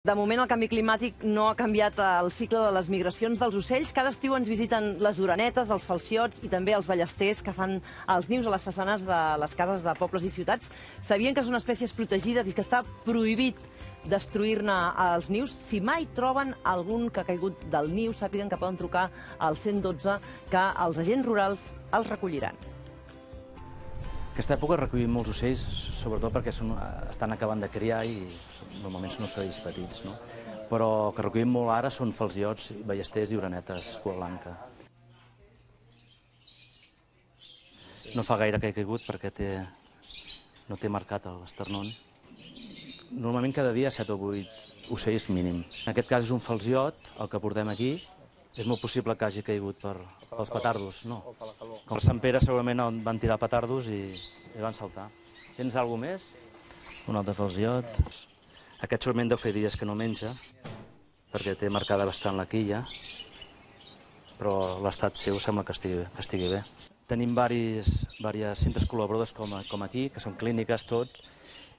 De moment el canvi climàtic no ha canviat el cicle de les migracions dels ocells. Cada estiu ens visiten les orenetes, els falciots i també els ballesters que fan els nius a les façanes de les cases de pobles i ciutats. Sabien que són espècies protegides i que està prohibit destruir-ne els nius. Si mai troben algun que ha caigut del niu, sàpiguen que poden trucar al 112, que els agents rurals els recolliran. Aquesta època recollim molts ocells, sobretot perquè estan acabant de criar i normalment són ocells petits, no? Però que recollim molt ara són falciots, ballesters i orenetes cua blanca. No fa gaire que he caigut perquè no té marcat l'esternón. Normalment cada dia 7 o 8 ocells mínim. En aquest cas és un falciot, el que portem aquí. És molt possible que hagi caigut pels petardos, no? Com a Sant Pere segurament van tirar petardos i van saltar. Tens alguna més? Un altre falciot. Aquest segurament deu fer dies que no menja, perquè té marcada bastant la quilla, però l'estat seu sembla que estigui bé. Tenim diversos centres col·laboradors com aquí, que són clíniques tots,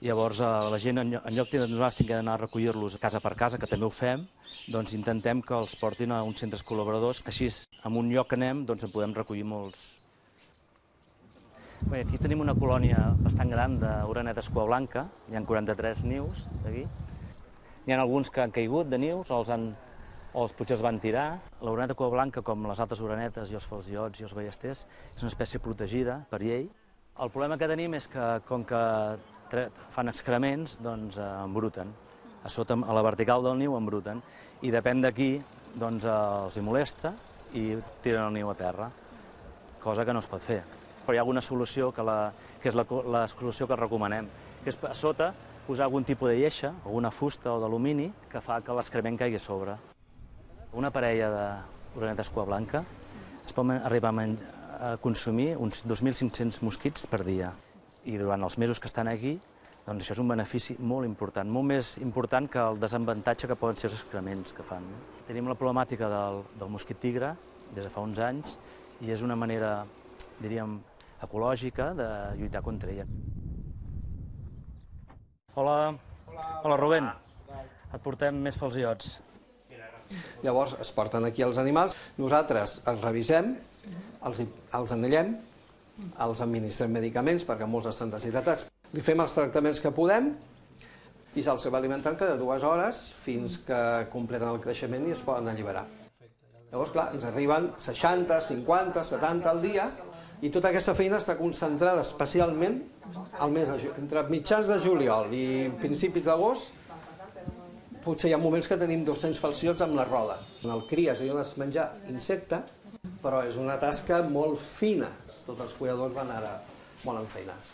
i llavors la gent, en lloc de nosaltres tinguem d'anar a recollir-los casa per casa, que també ho fem, doncs intentem que els portin a uns centres col·laboradors, així en un lloc que anem doncs en podem recollir molts. Bé, aquí tenim una colònia bastant gran d'orenetes cua blanca, hi ha 43 nius aquí. N'hi ha alguns que han caigut de nius o potser els van tirar. L'oreneta cua blanca, com les altres orenetes i els falciots i els ballesters, és una espècie protegida per llei. El problema que tenim és que, com que fan excrements, doncs embruten. A sota, a la vertical del niu, embruten. I depèn d'aquí, doncs els hi molesta i tiren el niu a terra, cosa que no es pot fer. Però hi ha alguna solució, que és la solució que recomanem, que és a sota posar algun tipus de lleixa, alguna fusta o d'alumini, que fa que l'excrement caigui a sobre. Una parella d'orenetes cua blanca es pot arribar a consumir uns 2.500 mosquits per dia. I durant els mesos que estan aquí, doncs això és un benefici molt important, molt més important que el desavantatge que poden ser els excrements que fan. Tenim la problemàtica del mosquit tigre des de fa uns anys i és una manera, diríem, ecològica de lluitar contra ella. Hola. Hola, Rubén. Et portem més falciots. Llavors es porten aquí els animals, nosaltres els revisem, els anellem, els administrem medicaments perquè molts estan deshidratats. Li fem els tractaments que podem i se'ls va alimentant cada 2 hores fins que completen el creixement i es poden alliberar. Llavors, clar, ens arriben 60, 50, 70 al dia i tota aquesta feina està concentrada especialment entre mitjans de juliol i principis d'agost. Potser hi ha moments que tenim 200 falciots amb la roda. En el cries i dones menjar insecte, però és una tasca molt fina. Tots els cuidadors van ara molt enfeinats.